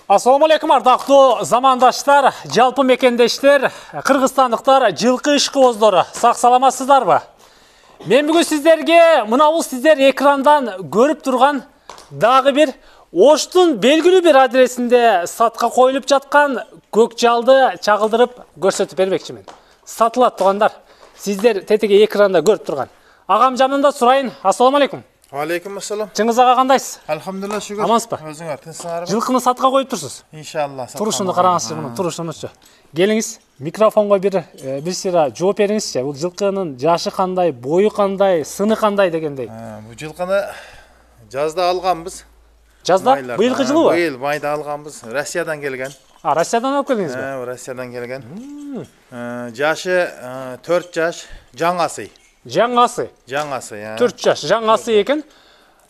Assalamu alaikum ардактуу замандаштар, жалпы мекендештер, кыргызстандыктар, жылкы ишкыбоздору. Сак саламатсыздарбы? Мен бүгүн сиздерге мынабул сиздер экрандан көрүп турган дагы бир Оштун белгилүү бир адресинде сатка коюлуп жаткан көк жалды чагылдырып көрсөтүп бермекчимин. Сатылат тугандар. Сиздер тетиги экранда көрүп турган. Агам жанында сурайын. Ассаламу алейкум. Алейкум ассалам. Чыңгыз ага кандайсыз? Алхамдулилла, шүгүр. Амансызбы? Өзүңөр тынчсыңарбы? Жылкыны сатка коюп турсуз? Иншалла. Турушунду караңызчы, муну турушунучу. Келиңиз, микрофонго бир сыйра жооп бериңизчи. Бул жылкынын жашы кандай, бою кандай, сыны кандай дегендей. Бул жылкыны жазда алганбыз. Жазда? Быйылкы жылыбы? Быйыл майда алганбыз. Россиядан келген. Россиядан алып келдиңизби? Россиядан келген. Жашы 4 жаш, жаңасы. Жаңасы. Жаңасы, 4 жаш, жаңасы экен.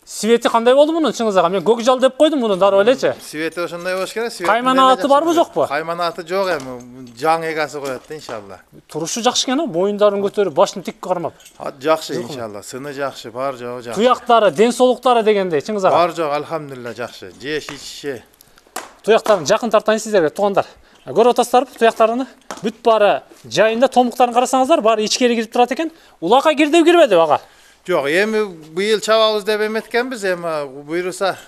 Свети кандай болду мунун чыңгыз ага? Мен көк жал деп койдум муну дароо элечи. Свети ошондой болуш керек. Каймана аты барбы жокпу? Каймана аты жок эми. Жаң эгасы коет да иншалла. Турушу жакшы экен, моюндарын көтөрүп, башын тик кармап. Жакшы иншалла. Сыны жакшы, бар жогу жакшы. Туяктары, ден соолуктары дегендей чыңгыз ага. Бар жок, алхамдулилла жакшы. Жеш ичиши. Туяктарын жакын тартайын сиздерге тугандар. Көрүп атасыздарбы туяктарыны? Бүт баары жайында, томуктарын карасаңыздар, баары ичкери кирип турат экен. Улакка кирди кирбеди ага? Жок, эми быйыл чабабыз деп эметкенбиз, эми буйруса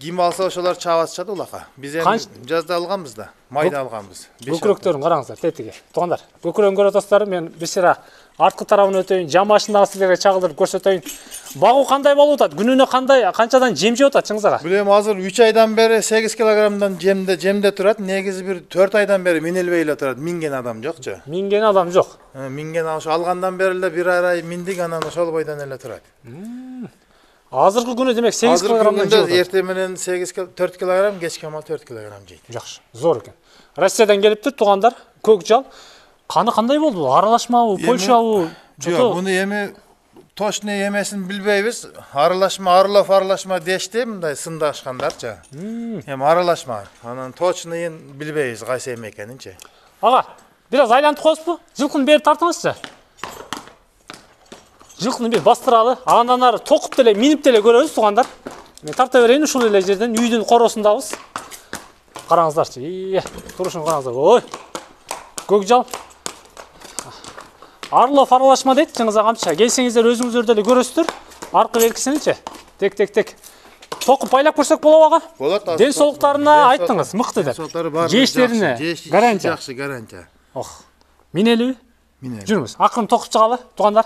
ким алса ошолор чабатышат улакка. Биз эми жазда алганбыз да, майда алганбыз. Көкүрөктөрүн караңыздар, тетиги. Тугандар, көкүрөгүн көрүп атасыздар, мен бир сыйра арткы тарабын өтөйүн, жан башындагы сиздерге чагылдырып көрсөтөйүн. Багуу кандай болуп атат? Күнүнө канчадан жем жеп атат чыңгыз ага? Билем, азыр 3 айдан бери 8 килограммдан жемде турат. Негизи бир 4 айдан бери минилбей эле турат. Минген адам жокчу. Минген адам жок. Минген ошо алгандан бери эле бир ай миндик, анан ошол бойдон эле турат. Азыркы күнү демек 8 килограммдан жеп атат. Эртең менен 4 килограмм, кечке мал 4 килограмм жейт. Жакшы, зор экен. Россиядан келиптир тугандар, көк жал. Каны кандай болду? Аралашмабы, Польшабы? Жок, муну эми точно эмесин билбейбиз. Аралашма дешти, мындай сындашкандарчы. Эми аралашма. Анан точноын билбейбиз кайсы эме экенинчи. Ага, бир аз айлантып коесузбу? Жылкыны бери тартыңызчы. Жылкыны бир бастыралы. Андан ары токуп деле, минип деле көрөбүз тугандар. Мен тарта берейин ушул эле жерден, үйдүн коросундабыз. Караңыздарчы. Турушун караңыздар. Ой. Көк жал. Аралашма дейт чыңгыз агамчы. Келсеңиздер өзүңүздөр деле көрөсүздөр. Аркы беркисиничи. Тек. Токуп байлап көрсөк болобу ага? Болот. Ден соолуктарына айттыңыз, мыкты деп. Жештерине гарантия. Жакшы, гарантия. Минелиби? Минели. Жүрүңүз. Акырын токуп чыгалы, тугандар.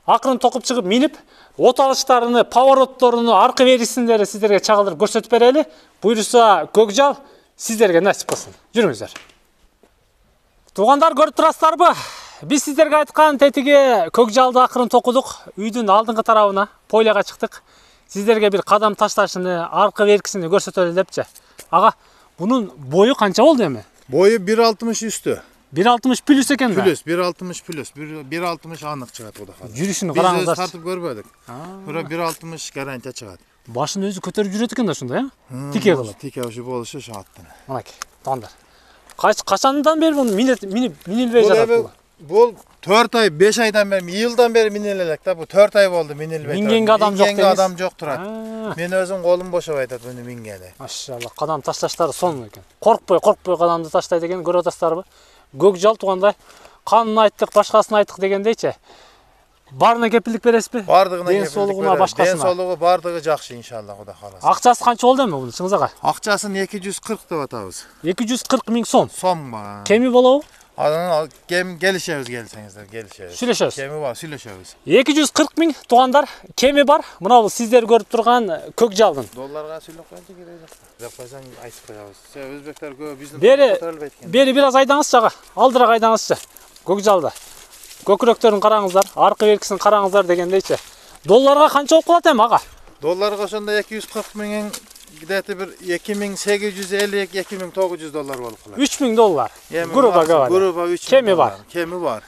Акырын токуп чыгып минип, от алыштарыны, поворотторуну, аркы беркисиндерди сиздерге чагылдырып көрсөтүп берели. Буйруса көк жал сиздерге насип кылсын. Жүрүңүздөр. Тугандар, көрүп турасыздарбы? Биз сиздерге айткан тетиги көк жалды акырын токудук. Үйдүн алдыңкы тарабына, поляга чыктык. Сиздерге бир кадам ташташыны, аркы беркисини көрсөтөлү депчи. Ага, бунун бою канча болду эми? Бою 1.60 үстү. 1.60 плюс экен да? Плюс, 1.60 плюс. 1.60 анык чыгат Кудай каласа. Жүрүшүнү караңыздар. Биз тартып көрбөдүк. Бирок 1.60 гарантия чыгат. Башын өзү көтөрүп жүрөт экен да ушундай, Тике кылып. Тике ушу болушу ошо аттан. Мынакей, тугандар. Качандан бери муну минилбей жатат бул? Бул 4 ай, 5 айдан бери, йылдан бери минеле элек да. Бул 4 ай болду минилбей. Мингенге адам жок дейсиз. Адам жок турат. Мен өзүм колум бошобой атат муну мингени. Машалла, кадам ташташтары сонун экен. Коркпой кадамды таштайт экен, көрүп атасыздарбы? Көк жал тугандай. Канын айттык, башкасын айттык дегендейчи. Барына кепилдик бересизби? Бардыгына кепилдик. Ден соолугуна, башкасына. Ден соолугу бардыгы жакшы иншалла, Кудай кааласа. Акчасы канча болду эми бул чыңгыз ага? Акчасын 240 деп атабыз. 240 миң сом. Сомго. Кеми болобу? Анан келишебиз, келсеңиздер, келишебиз. Сүйлөшөбүз. Кеми бар, сүйлөшөбүз. 240 миң тугандар, кеми бар. Мына бул сиздер көрүп турган көк жалдын. Долларга сүйлөп коюнчу керек. Деп койсоң айтып коебуз. Өзбектер көп биздин көтөрүлбөйт экен. Бери бир аз айдаңызчы ага. Алдыраак айдаңызчы. Көк жалды. Көкүрөктөрүн караңыздар, аркы беркисин караңыздар дегендейчи. Долларга канча болуп калат эми ага? Долларга ошондо 240 миң где-то бир 2850-2900 доллар болуп калат. 3000 доллар. Грубо говоря. Грубо 3000. Кеми бар. Кеми бар.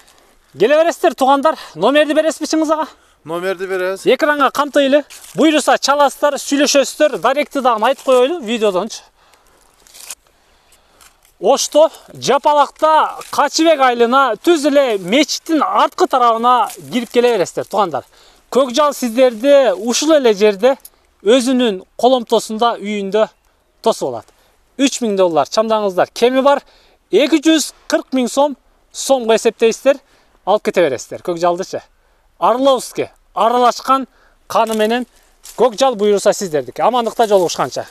Келе бересиздер тугандар. Номерди бересизби чыңгыз ага? Номерди беребиз. Экранга камтыйлы. Буйруса чаласыздар, сүйлөшөсүздөр, даректи дагы айтып коелу видеодончу. Ошто, Жапалакта Качыбек айылына түз эле мечиттин арткы тарабына кирип келе бересиздер тугандар. Көк жал сиздерди ушул эле жерде өзүнүн коломтосунда үйүндө тосуп алат. 3000 доллар чамдаңыздар кеми бар. 240 000 сомго эсептейсиздер, алып кете бересиздер көкжалдычы. Орловский аралашкан каны менен көкжал буюрса сиздердики. Амандыкта жолугушканча.